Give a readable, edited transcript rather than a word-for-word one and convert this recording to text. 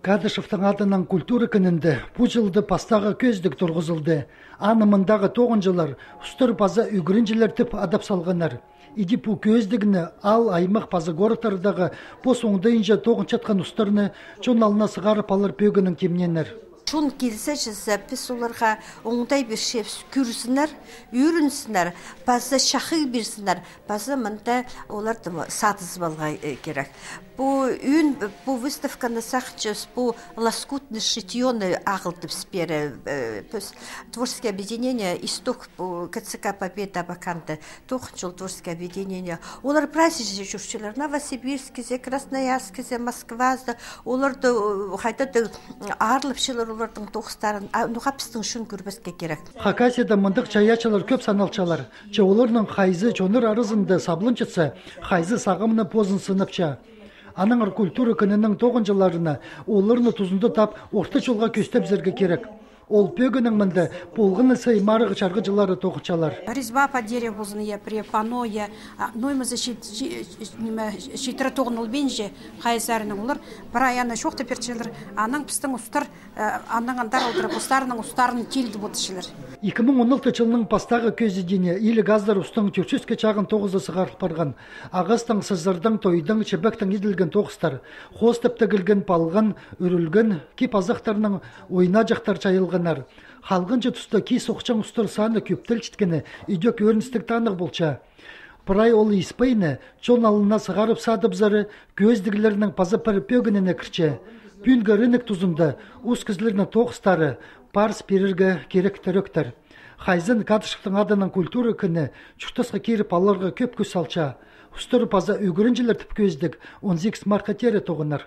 Кадышевтың атынан культура күнінде бұл жылды пастағы көздік тұрғызылды. Анымындағы 9 жылар ұстыр паза үгірінжілер тіп адап салғанар. Иди бұл көздігіні ал аймақ паза горытардағы бос оңдайынша 9 чатқан ұстырны чон алына сығарып алыр пөгінің кемненер. Шун келсе жаса біз оларға оңдай бір шеп күрсінер, үйрінсінер, базы шақы берсінер, базы мұнда оларды сатыз балға керек. Бұл выставканы сақчыз, бұл лоскутны шитьоны ағылтып спері. Творческое объединение «Исток» КЦК «Победа» баканды, 9 жыл творческое объединение. Олар праздничный жүршілер, Новосибирскізе, Красноярскізе, Москвазды, оларды қайтады арлыпшылар олардың тоқыстарын, нұқапыстың шын көрбеске керек. Хакасияда мұндық чаячалар көп саналчалар. Оларның қайзы чоныр арызынды саблынчытса, қайзы сағымны позын сыныпча. Аныңыр культура күнінің 9 жыларына оларны тұзынды тап орта жолға көстеп зерге керек. Ол пөгінің мінді болғыны сай марығы чарғы жылары тоқычалар. Резьба по дереву при паноя, ноймызы шитірі тоғыныл бенже қайызарының олар. Бір аяны шоқты перчелер, аның пістің ұстар, аның андар алдырып ұстарының ұстарын келді бұтышылар. 2016 жылының пастағы көздедіне илі газдар ұстың түрческе чағын 9-ы сығарып барған. Ағыстың, сыздырдың, тойдың, чебектің еділген тоқыстар, қос тіпті кілген палған, үрілген, кеп азықтарының ойна жақтар чайылғанар. Халғыншы тұста кей соқчан ұстар саны көптіл чіткені үйдек өріністік танық болча. Бірай ол испайны, чон алына сығарып садып зары көздігілерінің пазы пөргініне кірче. Пүнгі рынық тұзында ұз кізлерінің тоқыстары парс берірге керек түріктір. Хайзын Кадышевтың адының культура күні чүқтасқа керіп аларға көп көз салча. Ұстыры паза үгірінжілер тіп көздік 18 марқа тері тоғынар.